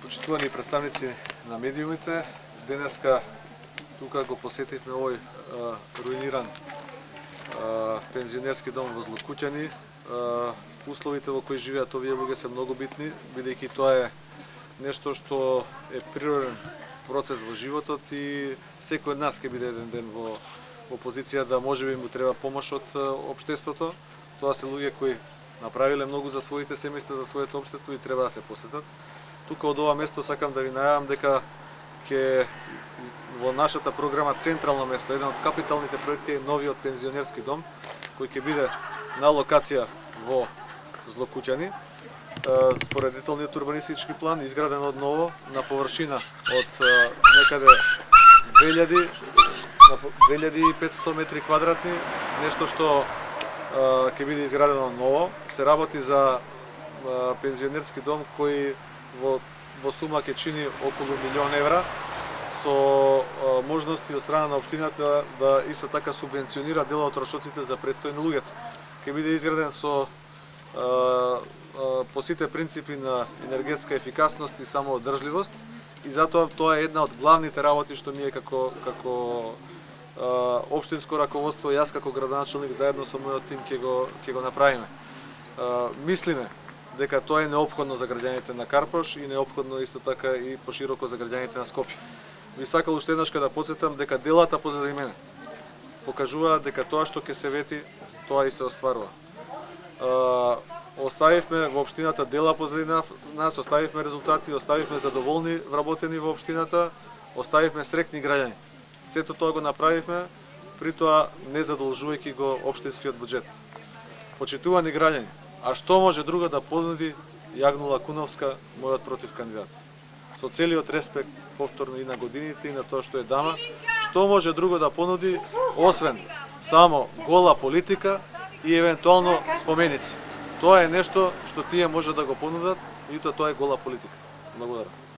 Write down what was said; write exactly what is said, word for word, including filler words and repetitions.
Почитувани представници на медиумите, денеска тука го посетивме овој а, руиниран а, пензионерски дом во Злокуќани. А, условите во кои живеат овие луѓе се многу битни, бидејќи тоа е нешто што е природен процес во животот и секој од нас ќе биде еден ден во, во позиција да можеби му треба помош од општеството. Тоа се луѓе кои направиле многу за своите семејства, за своето општество и треба да се посетат. Тука од ова место сакам да ви најавам дека ќе во нашата програма централно место, еден од капиталните проекти е новиот пензионерски дом, кој ќе биде на локација во Злокуќани. Според деталниот урбанистички план, изграден од ново на површина од некаде две илјади и петстотини метри квадратни, нешто што ќе биде изградено ново. Се работи за пензионерски дом кој во, во сума ќе чини околу милион евра, со а, можности од страна на општината да исто така субвенционира дел од трошоците за престој на луѓето. Ќе биде изграден со а, а, по сите принципи на енергетска ефикасност и самоодржливост и затоа тоа е една од главните работи што ние како како а, општинско раководство, јас како градоначелник заедно со мојот тим ќе го ќе го направиме. А, мислиме дека тоа е неопходно за граѓаните на Карпош и неопходно исто така и пошироко за граѓаните на Скопје. Би сакал уште еднаш да потсетам дека делата позади мене покажуваат дека тоа што ќе се вети, тоа и се остварува. А, оставивме во општината дела позади нас, оставивме резултати, оставивме задоволни вработени во општината, оставивме среќни граѓани. Сето тоа го направивме, при тоа не задолжувајќи го општинскиот буџет. Почитувани граѓани, а што може друго да понуди Јагнула Куновска, мојот против кандидат? Со целиот респект повторно и на годините и на тоа што е дама, што може друго да понуди освен само гола политика и евентуално споменици? Тоа е нешто што тие може да го понудат и тоа е гола политика. Благодарам.